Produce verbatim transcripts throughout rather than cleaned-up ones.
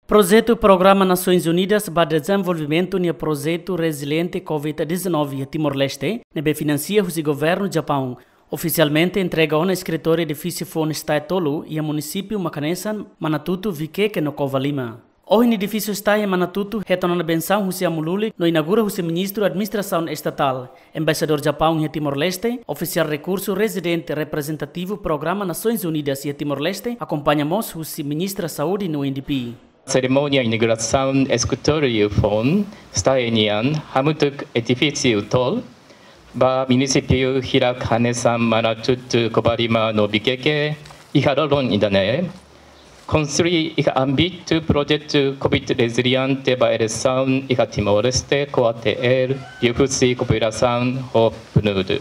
Projetu Programa Nasoins Unidas ba Dezenvolvimentu nia projetu reziliente covid dezanove iha Timor-Leste, ne'ebé finansia husi governu Japaun, ofisialmente entrega ona eskritóriu edifísiu foun STAE tolu iha munisípiu mak hanesan Manatutu, Viqueque no Covalima. Ohin edifísiu STAE iha Manatutu hetan ona bensaun husi amu lulik no inaugura husi Ministru Administrasaun Estatál. Embaixadór Japaun iha Timor-Leste, ofisiál rekursu rezidente reprezentativu Programa Nasoins Unidas iha Timor-Leste, akompaña mós husi Ministra Saúde no U N D P. Serimónia inaugurasaun eskritóriu foun STAE nian hamutuk edifísiu tolu ba munisípiu hirak hanesan Manatutu, Covalima no Viqueque iha dodon ida-ne'e konstrui iha ámbitu projetu covid reziliente ba eleisaun iha Timor-Leste, COATL, liuhusi kooperasaun ho PNUD.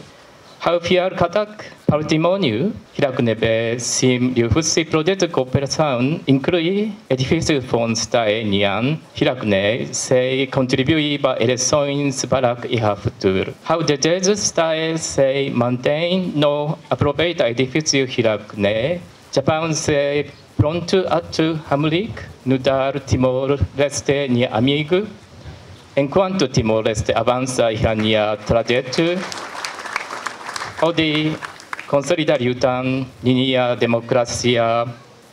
Ha'u fiar katak patrimóniu hirak ne'ebé simu liuhusi projetu kooperasaun, inklui edifísiu foun STAE nian hirak ne'e, sei kontribui ba eleisoens barak iha futuru. Ha'u dezeja STAE sei mantein no aproveita edifísiu hirak ne'e. Japaun sei prontu atu hamutuk nu'udar Timor-Leste nia amigu, enkuantu Timor-Leste avansa iha nia trajetu hodi konsolida liután ninia demokrasia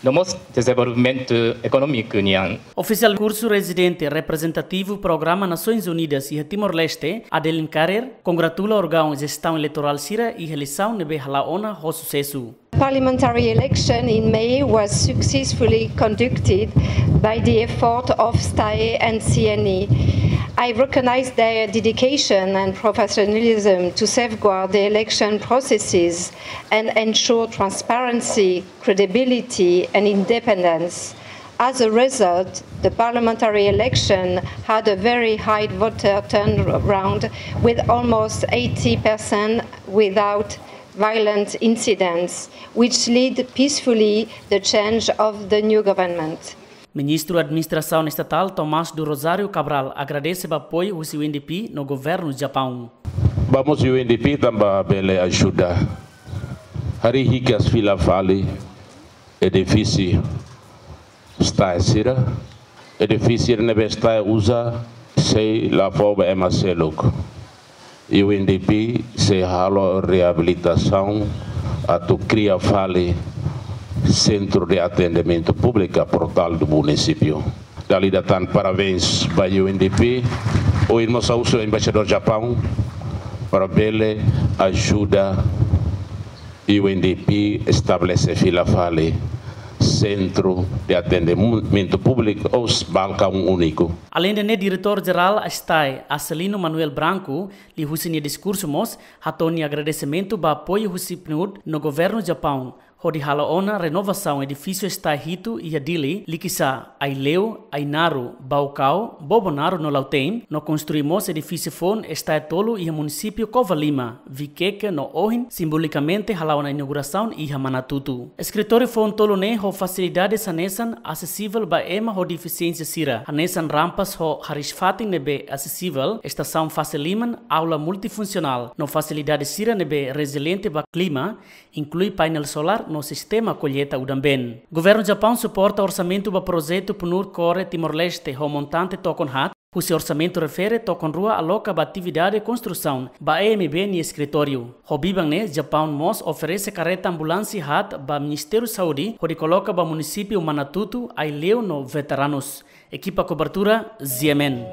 no mós dezenvolvimentu ekonómiku nian. Ofisiál rekursu rezidente reprezentativu Programa Nasoins Unidas iha Timor-Leste, Adeline Carrier, kongratula órgaun jestaun eleitorál sira iha eleisaun ne'ebé hala'o ona ho susesu. Parliamentary election in May was successfully conducted by the effort of STAE and C N E. I recognize their dedication and professionalism to safeguard the election processes and ensure transparency, credibility, and independence. As a result, the parliamentary election had a very high voter turnout, with almost eighty percent without violent incidents, which led peacefully the change of the new government. Ministru Administrasaun Estatál Tomás do Rosário Cabral agradese ba apoiu husi U N D P no governu Japaun. Ba mós U N D P tanba bele ajuda harii hikas fila fali edifísiu STAE sira, edifísiu ne'ebé STAE uza sei la fó ba ema seluk. U N D P sei halo reabilitasaun atu kria fali Centro de Atendimento Público, Portal do Município. Dala ida tan parabéns ba U N D P, ohin mós ha'u husu Embaixadór Japaun para bele ajuda U N D P estabelese fila fali Centro de Atendimento Público ou Balcão Único. Aleinde ne'e, Diretór Jerál STAE, Acelino Manuel Branco, liuhusi nia diskursu mós hato'o nia agradesimentu ba apoiu husi PNUD no governu Japaun hodi hala'o ona renovasaun edifísiu STAE hitu iha Dili, Likisá, Aileu, Ainaro, Baucau, Bobonaro no Lautém, no konstrui mós edifísiu foun STAE tolu iha munisípiu Covalima, Viqueque no ohin simbolikamente hala'o ona inaugurasaun iha Manatutu. Eskritóriu foun tolu ne'e ho fasilidades hanesan, asesivel ba ema ho defisiénsia sira, hanesan rampas ho hariis-fatin ne'ebé asesivel, estasaun fase liman, aula multifunsionál, no fasilidade sira ne'ebé reziliente ba klima, inklui painel solár no sistema kolleita udan-been. Governu Japaun suporta orsamentu ba projetu PNUD CORE Timor-Leste ho montante tokon haat, husi orsamentu refere tokon rua aloka ba atividade konstrusaun ba E M B nia eskritóriu. Ho biban ne'e, Japaun mós oferese kareta ambulánsia haat ba Ministériu Saúde hodi koloka ba munisípiu Manatutu, Aileu no veteranus. Ekipa kobertura, Z M N.